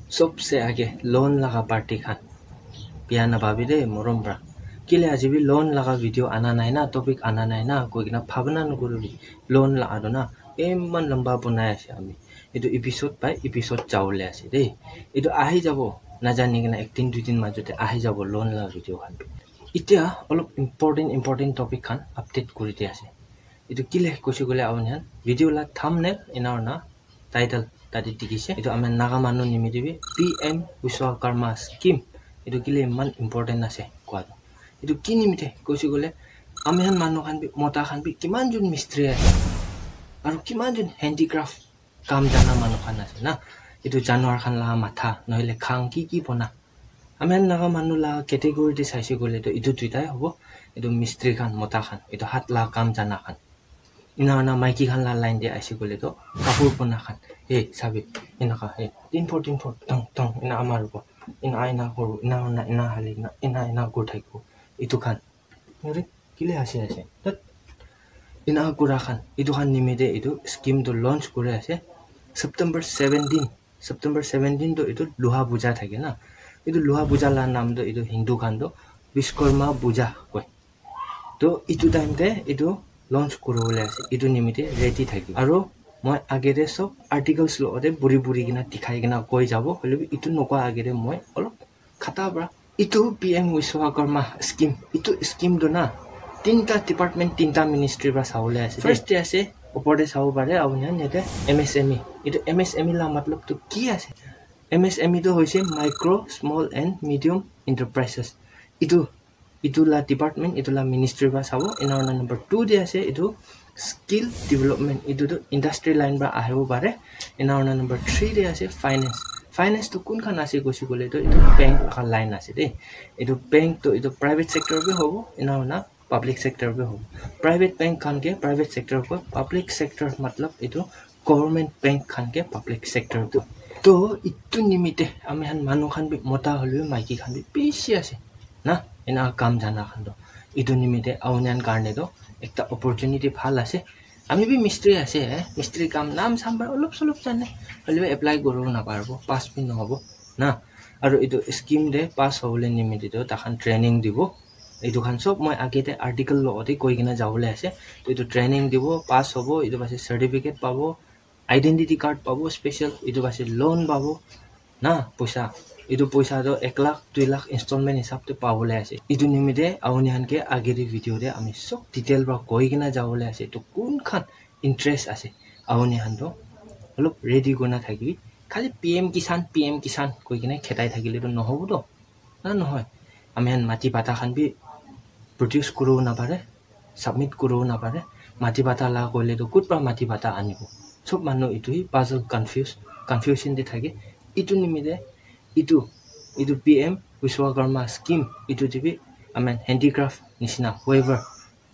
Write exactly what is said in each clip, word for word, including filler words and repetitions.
Sobse age loan laga party khan, bia nabhabi de morom pra. Kile aji bi loan laga video ana nai na, topic ana nai na koi kena bhabna nokuribi. Loan la aro na eman lamba bonai ase ami. Etu episode by episode jawole ase de. Etu ahi jabo, najani kena ek din dui din majote ahi jabo loan la video khan. Etia olop important important topic khan update kuri di ase. Etu kile koise koile apuni khan video la thumbnail ena hoina title tate dikhi ase. Etu ami Naga manu nimite bi P M Vishwakarma scheme etu kile iman important ase koa tu. Etu ki nimite koise koile ami khan manu khan bi, mota khan bi kiman jon mistri ase aru kiman jon handicraft kam jana manu khan ase na. Etu janwar khan la matha nohile khang ki ki bona. Ami khan Naga manu la category te saise koile to etu duitai hobo. Etu mistri khan, mota khan, etu hat la kam jana khan. Ena hoina maiki khan la line te aise koile to kapur bona khan. Hey, sabi, enaka, hey, tin four, tin four, tong, tong, ena amar bo. Ena, ena koru, ena, ena, ena hali, ena, ena, ena kuri thakibo. Etu khan. Yate kile ase, ase. Tat. Ena kura khan. Etu khan nimite etu scheme to launch kuri ase. September seventeen. September seventeen to etu Loha Puja thake na. Etu Loha Puja la naam to etu Hindu khan to Vishwakarma Puja koi. To etu time te etu launch kuribole ase. Etu nimite ready thaki. Aru moi age te sob articles lo te buri buri kena dikhai kena koi jabo. Hoile bi etu nokwa age te moi olop khata pra. Etu P M Vishwakarma scheme. Etu scheme to na tinta department, tinta ministry pra sabole ase. First te ase, opor te sabo pare, apuni khan yate M S M E. Etu M S M E la matlab to ki ase? M S M E to hoise micro, small and medium enterprises. Etu, etu la department, etu la ministry pra sabo. Ena hoina number two te ase, etu skill development. Etu to industry line pra ahibo pare. Ena hoina number three te ase finance. Finance to kun khan ase koise koile to etu bank laga line ase de. Etu bank to etu private sector bi hobo, ena hoina public sector bi hobo. Private bank khan ke private sector koi, public sector matlab etu government bank khan ke public sector tu. To etu nimite ami khan manu khan bi mota hoile bi maiki khan bi bishi ase na, ena kam jana khan to. Etu nimite apuni khan karne to ekta opportunity bhal ase. Ami bi mistri ase, eh, mistri kam naam saam para olop solop jane, hoile bi apply koribo naparibo, pass bi nohobo na. Aru etu scheme te pass hobole nimite to takhan training dibo. Etu khan sob moi age te article lo te koi kena jabole ase. To etu training dibo, pass hobo, etu pase certificate pabo, identity card pabo special, etu pase loan pabo na, poisa. Etu poisa to ek lakh, dui lakh installment hisab te pabole ase. Etu nimite apuni khan ke age te video te ami sob detail pra koi kena jabole ase. To kun khan interest ase, apuni khan to olop ready kurina thakibi. Khali P M Kisan, P M Kisan koi kena khetai thakile to nohobo to. Na nohoi, ami khan mati bata khan bi produce kuribo napare, submit kuribo napare. Mati bata la koile to kut pra mati bata anibo? Sob manu etu hi puzzle, confuse, confusion te thake. Etu nimite etu, etu P M Vishwakarma scheme etu te bi ami khan handicraft nishina weaver,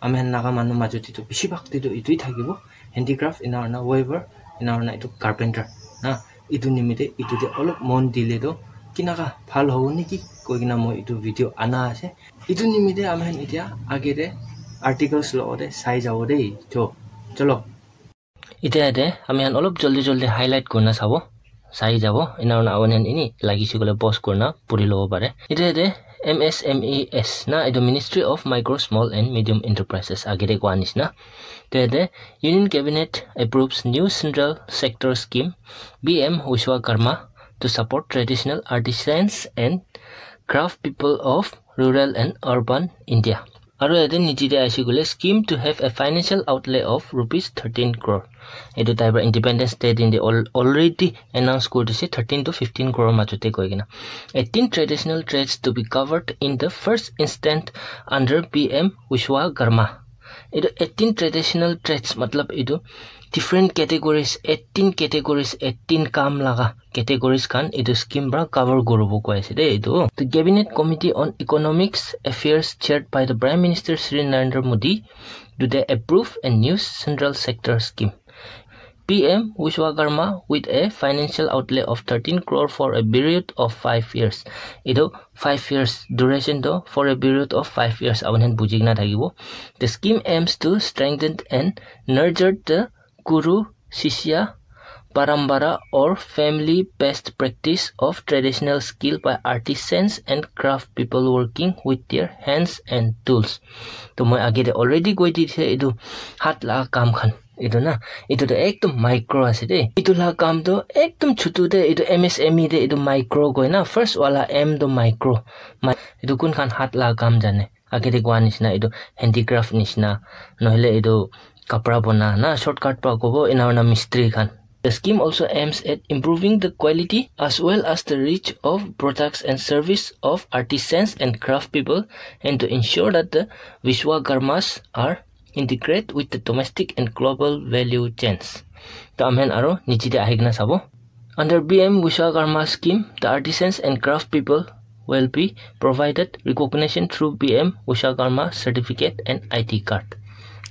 ami khan Naga manu majo te to bishi bhag te to etu hi thakibo, handicraft, ena hoina weaver, ena hoina etu carpenter na. Etu nimite etu te olop mon dile to kinaka bhal hobo niki koi kena moi etu video ana ase. Etu nimite ami khan etia age te articles lo te sai jabo de. To cholo. Etia yate ami khan olop joldi joldi highlight kurina sabo, sai jabo. Ena hoina apuni khan eni lagise koile pause kurina puri lobo pare. Etia yate M S M E S na, etu Ministry of Micro, Small and Medium Enterprises age te koa nishina. Etia yate Union Cabinet approves new central sector scheme P M Vishwakarma to support traditional artisans and craft people of rural and urban India. Aru yate niche te aise koile scheme to have a financial outlay of rupees thirteen crore. Etu tai para Independence Day din te al-, already announce kuri dise, thirteen to fifteen crore majo te koi kena. Eighteen traditional trades to be covered in the first instant under P M Vishwakarma. Etu eighteen traditional trades matlab etu different categories, eighteen categories, eighteen kam laga categories khan etu scheme para cover kuribo koi ase de etu. The Cabinet Committee on Economics Affairs chaired by the Prime Minister Shri Narendra Modi today approve a new central sector scheme, P M Vishwakarma, with a financial outlay of thirteen crore for a period of five years. Etu five years duration to for a period of five years apuni khan buji kena thakibo. The scheme aims to strengthen and nurture the Guru Shishya parampara or family best practice of traditional skill by artisans and craft people working with their hands and tools. To moi age te already koi di thai etu hat la kam khan. Etu na, etu to ekdom micro ase de. Etu la kam to ekdom chutu de, etu M S M E de, etu micro koi na. First wala M to micro. Ma-, etu kun khan hat la kam jane. Age te koa nishina, etu handicraft nishina. Nohole etu kapra bona na, shortcut pa kobo, ena na mistri khan. The scheme also aims at improving the quality as well as the reach of products and service of artisans and craft people and to ensure that the Vishwakarmas are integrate with the domestic and global value chains. To amen aro niche te ahi kena sabo. Under B M Vishwakarma scheme, the artisans and craft people will be provided recognition through B M Vishwakarma certificate and I D card.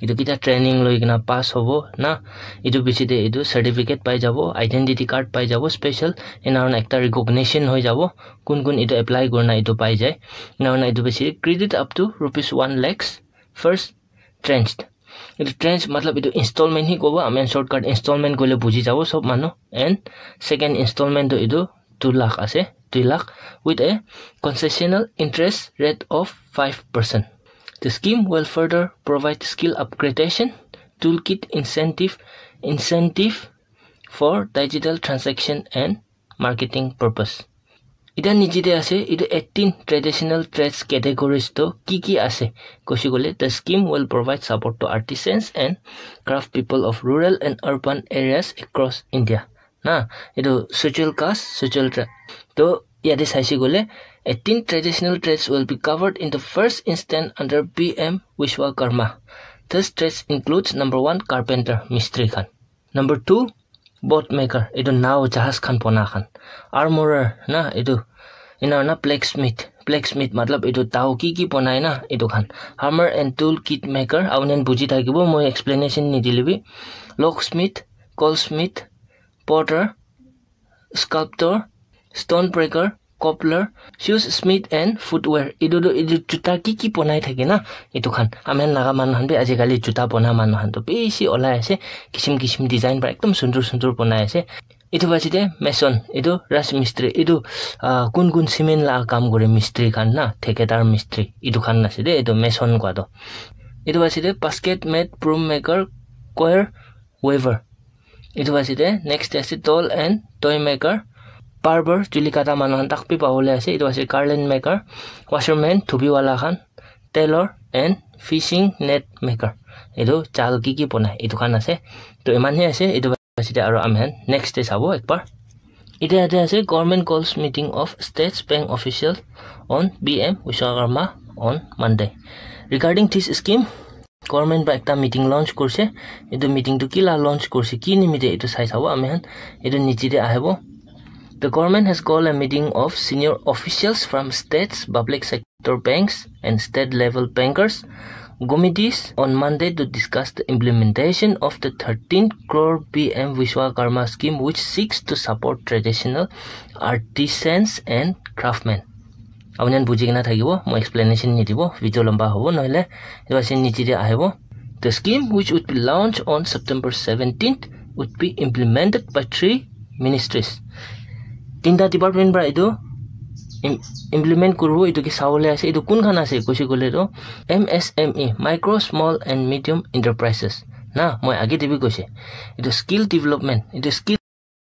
Etu kita training loi kena pass hobo na, etu piche te etu certificate pai jabo, identity card pai jabo, special, ena hoina ekta recognition hoi jabo, kun kun etu apply kurina etu pai jai. Ena hoina etu piche credit up to rupees one lakhs first tranche. Etu tranche matlab etu installment hi kobo, amen shortcut installment koile buji jabo sob manu. And second installment to etu two lakh ase, two lakh with a concessional interest rate of five percent. The scheme will further provide skill upgradation, toolkit incentive, incentive for digital transaction and marketing purpose. Ita niche te ase, etu eighteen traditional trades categories to ki ki ase? Koshi kole, the scheme will provide support to artisans and craft people of rural and urban areas across India. Na, etu schedule caste, schedule tribe. To yate saise kole, eighteen traditional trades will be covered in the first instance under B M Vishwakarma. These trades includes number one, carpenter, mistri khan. Number two, boat maker, etu nao jahaz khan bona khan. Armorer na, etu ena na blacksmith, blacksmith matlab etu tao ki ki bonai na etu khan. Hammer and tool kit maker, aunian buji thakibo, moi explanation nidile bi. Locksmith, goldsmith, potter, sculptor, stone breaker, cobbler, shoes smith and footwear. Etu tu etu juta ki ki bonai thake na, etu khan. Amen Naga manu khan bi ajikali juta bona manu khan tu bishi olai ase, kisim kisim design para ekdom sundur sundur bonai ase. Etu piche te mason, etu raj mistri, etu ah, kun kun cement la kam kore mistri khan na, thekadar mistri, etu khan ase de, etu mason kua to. Etu piche te basket made, broom maker, choir weaver. Etu ase de, next ase doll and toy maker, barber, chuli kata manu khan tak bi pabole ase. Etu ase garland maker, washerman, thubi wala khan, tailor and fishing net maker. Etu jal ki ki bonai, etu khan ase. To iman he ase, etu ase de aro amen next te sabo ekbar. Ite ate ase government calls meeting of States Bank official on B M Vishwakarma on Monday. Regarding this scheme, government para ekta meeting launch kurse. Etu meeting tu kila launch kurse, ki nimite etu sai sabo ami khan. Etu niche te ahibo. The government has called a meeting of senior officials from states, public sector banks, and state level bankers committees on Monday to discuss the implementation of the thirteen crore P M Vishwakarma scheme, which seeks to support traditional artisans and craftsmen. Apuni khan buji kena thakibo, moi explanation nidibo, video lamba hobo, nohole etu ase niche te ahibo. The scheme, which would be launched on September seventeenth, would be implemented by three ministries. Tinta department para etu im- implement kuribo, etu ke sabole ase. Etu kun khan ase koise koile tu M S M E, micro, small and medium enterprises. Na, moi age te bi koise, etu skill development, etu skill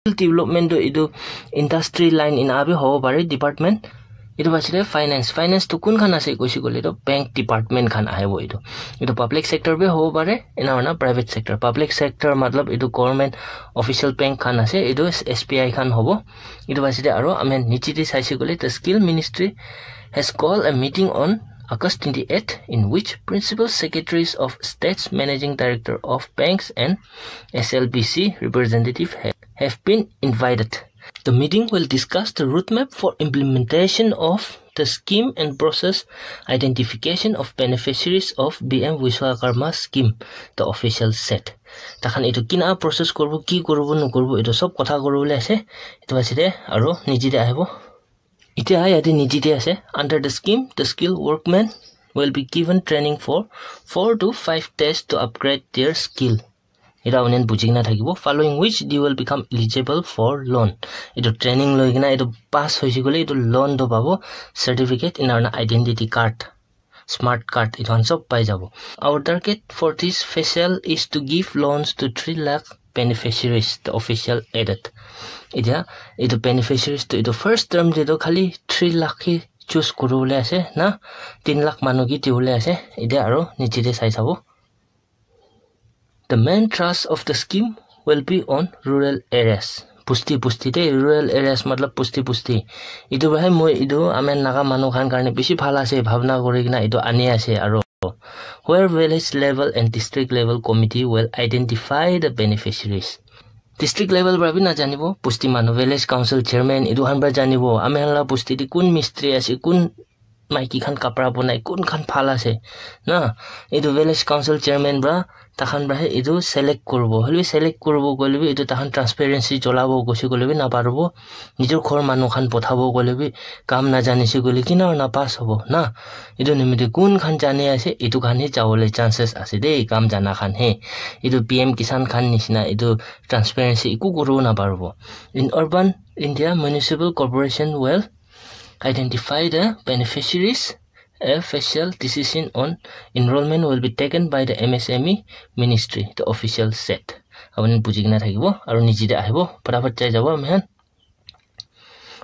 development tu etu industry line ena bi hobo pare department. Etu piche te finance, finance tu kun khan ase koise koile tu bank department khan ahibo etu. Etu public sector bi hobo pare, ena hoina private sector. Public sector matlab etu government official bank khan ase, etu S B I khan hobo. Etu piche te aro ami niche te saise koile the skill ministry has called a meeting on August twenty-eighth, in which principal secretaries of states, managing director of banks and S L B C representative ha- have been invited. The meeting will discuss the roadmap for implementation of the scheme and process identification of beneficiaries of B M Vishwakarma scheme, the official said. Takhan etu kina process koribo, ki koribo, nokoribo, etu sob kotha koribole ase. Etu ase de, aro niche te ahibo. Itya yate niche te ase. Under the scheme, the skilled workmen will be given training for four to five days to upgrade their skill. Etu apuni khan buji kena thakibo, following which they will become eligible for loan. Etu training loi kena etu pass hoise koile etu loan to pabo, certificate ena hoina identity card, smart card etu khan sob pai jabo. Our target for this facial is to give loans to three lakh beneficiaries, the official added. Etia etu beneficiaries to etu first term te to khali three lakh hi choose kuribole ase na, tin lakh manu ke dibole ase. Etia aro niche te sai sabo. The main thrust of the scheme will be on rural areas. Pusti pusti te, rural areas matlab pusti pusti. Etu para moi etu ami Naga manu khan karne bishi bhal ase bhabna kuri kena etu ani ase aro where village level and district level committee will identify the beneficiaries. District level para bi na janibo, pusti manu, village council chairman, etu khan para janibo, ami khan la pusti te kun mistri ase, kun maiki khan kapra bonai, kun khan bhal ase na, etu village council chairman para takhan para he etu select kuribo. Hoile select kuribo koile bi etu takhan transparency cholabo koise koile bi na paribo. Nijor ghor manu khan pothabo koile bi kam na janise koile kina na pass hobo na. Etu nimite kun khan jani ase, etu khan he jabole chances ase de, kam jana khan he. Etu P M Kisan khan nishina etu transparency eku kuribo na paribo. In urban India, municipal corporation will identify the beneficiaries. A facial decision on enrollment will be taken by the M S M E ministry, the official said. Apuni buji kena thakibo, aru niche te ahibo, fatafat jai jabo ami khan.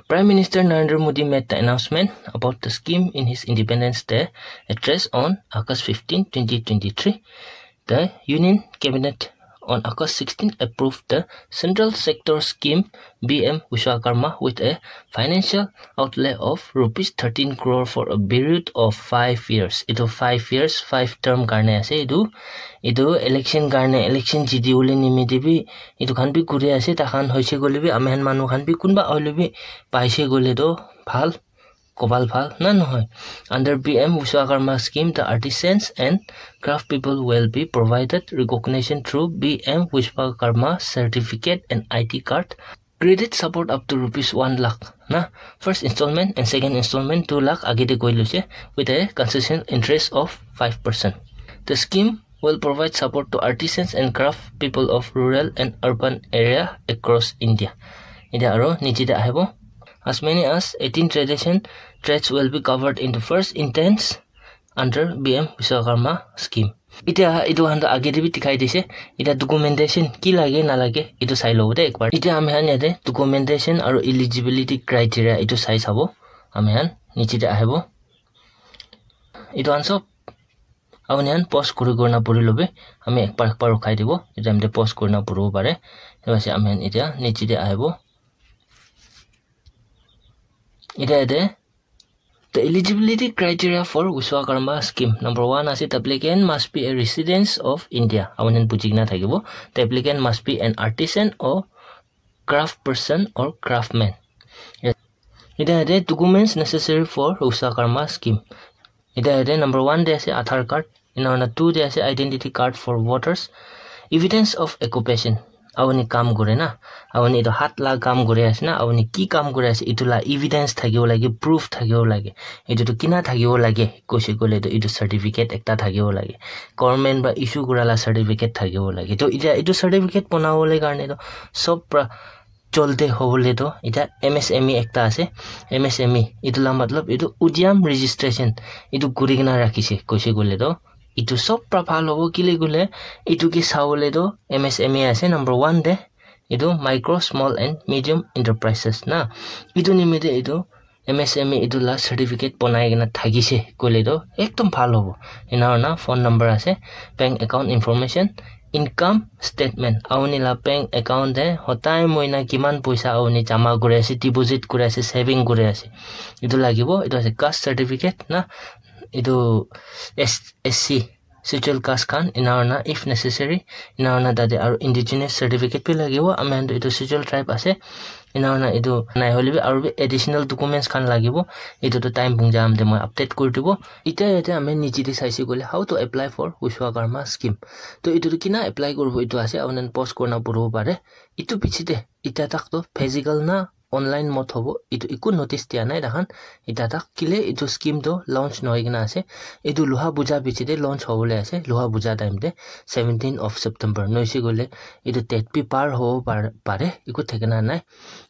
Prime Minister Narendra Modi made the announcement about the scheme in his Independence Day address on August fifteen, twenty twenty-three. The Union Cabinet on August sixteen approved the Central Sector Scheme B M Vishwakarma with a financial outlay of rupees thirteen crore for a period of five years. Etu five years, five term karne ase etu. Etu election karne, election jiti bole nimite bi etu khan bi kuri ase, takhan hoise koile bi, ami khan manu khan bi kunba hoile bi paise koile to bhal, kobal bhal na nohoi. Under B M Vishwakarma scheme, the artisans and craft people will be provided recognition through B M Vishwakarma certificate and I D card. Credit support up to rupees one lakh na. First installment and second installment two lakh age te koi loise with a concession interest of five percent. The scheme will provide support to artisans and craft people of rural and urban area across India. Etia aro niche te ahibo. As many as eighteen tradition trades will be covered in the first instance under B M Vishwakarma scheme. Etia etu khan to age te bi dikhai dise. Etia documentation ki lage na lage etu sai lobo de ekbar. Etia ami khan yate documentation aru eligibility criteria etu sai sabo. Ami khan niche te ahibo. Etu khan sob apuni khan pause kuri kuri na puri lobi. Ami ekbar ekbar ukhai dibo. Etu time te pause kuri na puribo pare. Etu ase ami khan etia niche te ahibo. Etia yate the eligibility criteria for Vishwakarma scheme. Number one ase, the applicant must be a resident of India. Apuni khan buji kena thakibo. The applicant must be an artisan or craft person or craftsman. Yes. Etia yate documents necessary for Vishwakarma scheme. Etia yate number one te ase Aadhaar card, ena hoina two te ase identity card for voters, evidence of occupation. Apuni kam kure na, apuni etu hat la kam kuri ase na, apuni ki kam kuri ase, etu la evidence thakibo lage, proof thakibo lage. Etu tu kina thakibo lage, koise koile tu etu certificate ekta thakibo lage. Government para issue kura la certificate thakibo lage. To etia etu certificate banabole karne to sob para cholte hobole to etia M S M E ekta ase. M S M E etu la matlab etu udyam registration etu kuri kena rakhise koise koile to etu sob para bhal hobo kile koile etu ke sabole to M S M E ase number one te etu micro, small and medium enterprises na. Etu nimite etu M S M E etu la certificate banai kena thakise koile to ekdom bhal hobo. Ena hoina phone number ase, bank account information, income statement, apuni la bank account te hodai moina kiman poisa apuni jama kuri ase, deposit kuri ase, saving kuri ase, etu lagibo. Etu ase caste certificate na, etu S-, S C, schedule caste khan, ena hoina if necessary, ena hoina tate aru indigenous certificate bi lagibo. Ami khan tu etu schedule tribe ase, ena hoina etu nai hoile bi aru bi additional documents khan lagibo. Etu tu time pung jam te moi update kuri dibo. Etia yate ami niche te saise koile how to apply for Vishwakarma scheme. To etu tu kina apply kuribo etu ase, apuni khan pause kurina puribo pare. Etu piche te etia tak to physical na online mode hobo, etu eku notice dia nai tahan. Eta tak kile etu scheme to launch nohoi kena ase. Etu Loha Puja bichi te launch hobole ase, Loha Puja time te, seventeenth of September. Noise koile etu date bi par hobo par- pare, eku thikana nai.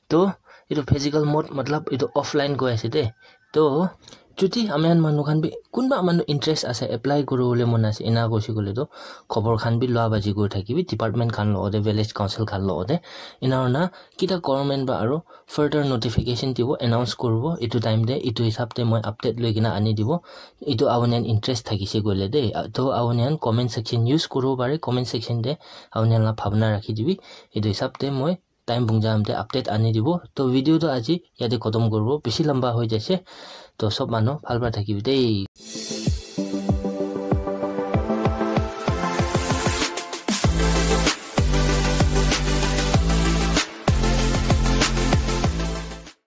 To etu physical mode matlab etu offline goi ase de. To chuti ami khan manu khan bi kunba manu interest ase, apply kuribole mon ase, ena koise koile to khobor khan bi lua baji kuri thakibi department khan logote, village council khan logote. Ena hoina kita government ba aro further notification dibo, announce kuribo. Etu time te etu hisab te moi update loi kena ani dibo. Etu apuni khan interest thakise koile de, to apuni khan comment section use kuribo pare, comment section te apuni khan la bhabna rakhi dibi. Etu hisab te moi time pungja time te update ani dibo. To video to aji yate khotom kuribo, bishi lamba hoi jaise. To sob manu bhal para thakibi de.